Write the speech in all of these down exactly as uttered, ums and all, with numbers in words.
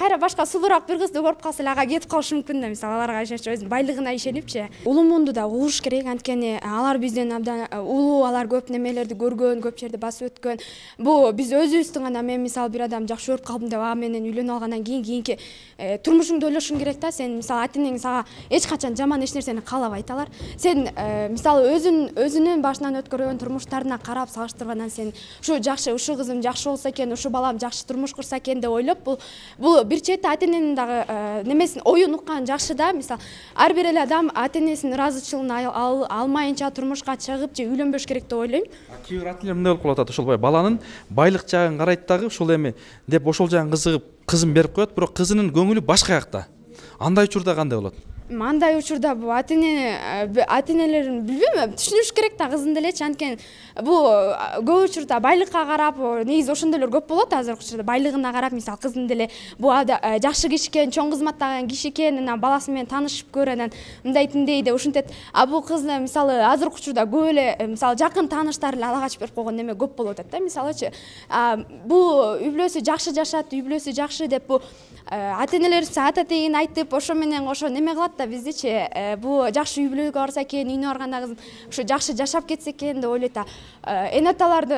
кайра башка сулуураак бир кызды көрүп калса эле ага кетип калышы мүмкүн да, мисалы аларга ишенчү, өзүнүн байлыгына ишенипчи. Улуу муунду да угуш керек, анткени алар бизден абдан улуу, алар көп немелерди көргөн, көп жерди басып өткөн. Бул биз өзүбүздүн гана, мен мисалы бир адам жакшы көрүп калдым деп ага менен үйлөнүп алгандан кийин кийинки турмушуңду ойлошуң керек да. Сен мисалы ата-энең сага эч качан жаман эч нерсени каалабайт алар. Сен мисалы өзүн өзүнүн башынан өткөргөн турмуштарына карап салыштыргандан сен ушу жакшы, ушу кызым жакшы болсо экен, ушу балам жакшы турмуш курса экен деп ойлоп, бул бул бир чети ата-эненин дагы немесин, оюн уккан жакшы да. Мисалы ар бир эле адам ата-энесинин ыраазычылыгын алмайынча турмушка чыгып же үйлөнбөш керек деп ойлойм. Кээ бир ата-энелер мындай болуп калып атат, ошол баланын байлык жагын карайт дагы, ушул эми деп ошол жагын кызыгып кызын берип коет, бирок кызынын көңүлү башка жакта. Андай учурда кандай болот? Андай учурда бул ата-эне ата-энелерин билбейм, түшүнүш керек да кызын делечи, анткени бул көп учурда байлыкка карап, негизи ошондойлор көп болот азыркы учурда, байлыгына карап, мисалы кыздын деле бул жакшы киши экен, чоң кызматтаган киши экен, анан баласы менен таанышып көр, анан мындай тиндей деп ушинтет. А бул кызны мисалы азыркы учурда көп эле мисалы жакын тааныштар эле ала качып берип койгон неме көп болуп атат да. Мисалычы бул үй бүлөсү жакшы жашат, үй бүлөсү жакшы деп бул ата-энелерибиз ата тегин айтып, ошо менен ошо неме кылат да биздичи. Бул жакшы үй бүлөгө барса экен, үйүнө барганда кызым ушу жакшы жашап кетсе экен деп ойлойт. Эне аталарды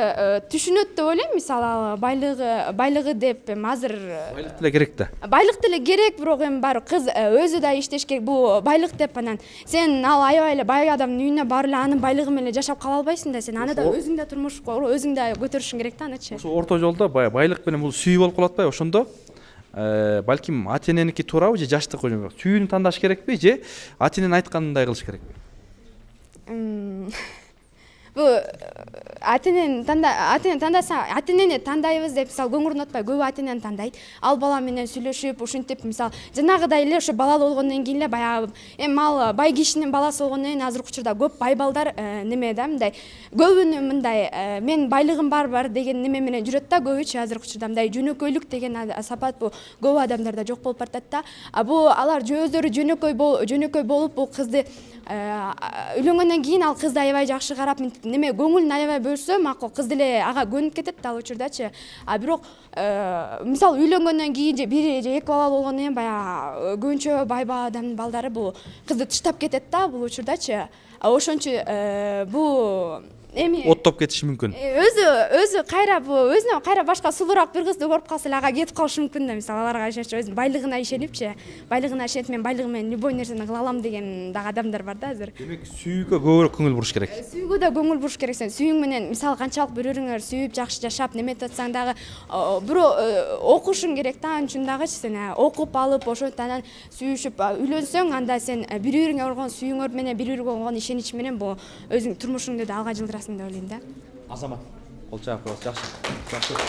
түшүнөт деп ойлойм. Мисалы байлыгы байлыгы деп азыр байлык деле керек да. Байлык деле керек, бирок эми баары кыз өзү да иштеш керек. Бул байлык деп анан сен ал аябай эле бай адамдын үйүнө барып эле анын байлыгы менен жашап кала албайсың да. Сен аны да өзүң да турмуш өзүң да көтөрүшүң керек да анычы. Ошо орто жолдо байлык менен бул сүйүү болуп калат атпайбы? Ошондо балким ата-эненики туурабы же жаштыкы сүйүүнү тандаш керекпи же ата-эненин айтканындай кылыш керекпи? Бул ата-энени танда ата-энени тандаса, ата-энени тандайбыз деп мисалы көңүл унутпай, көп ата-энени тандайт. Ал бала менен сүйлөшүп, ушинтип мисалы жанагыдай эле ошо балалуу болгондон кийин эле баягы эми ал бай кишинин баласы болгондон кийин азыркы учурда көп бай балдар неме да, мындай көбүнү мындай мен байлыгым бар бар деген неме менен жүрөт да, көбүчү азыркы учурда мындай жөнөкөйлүк деген сапат бул көп адамдарда жок болуп баратат да. А бул алар өздөрү жөнөкөй жөнөкөй болуп бул кызды үйлөнгөндөн кийин ал кызды аябай жакшы карап неме көңүлүн аябай бөлсө макул, кыз деле ага көнүп кетет ал учурдачы. А бирок мисалы үйлөнгөндөн кийин же бир же эки балалуу болгондон кийин баягы көбүнчө бай адамдын балдары бул кызды таштап кетет да бул учурдачы. Ошон үчүн бул эми оттоп кетиши мүмкүн. Өзү өзү кайра бул өзүнө кайра башка сулуураак бир кызды көрүп калса эле ага кетип калышы мүмкүн да. Мисалы аларга ишенчү, өзүнүн байлыгына ишенипчи, байлыгына ишенип мен байлыгым менен любой нерсени кыла алам деген дагы адамдар бар да азыр. Демек сүйүүгө көбүрөөк көңүл буруш керек. Сүйүүгө да көңүл буруш керек. Сен сүйүүң менен мисалы канчалык бири бириңер сүйүп жакшы жашап неметип атсаң дагы бирөө окушуң керек да, анын үчүн дагычы сен окуп алып ошентип анан сүйүшүп үйлөнсөң, анда сен бири бириңе болгон сүйүүңөр менен бири бириге болгон ишенич менен бул өзүң турмушуңду да алга жылдырасың деп ойлойм да. Азамат, кол чаап коебуз. Жакшы. Жакшы.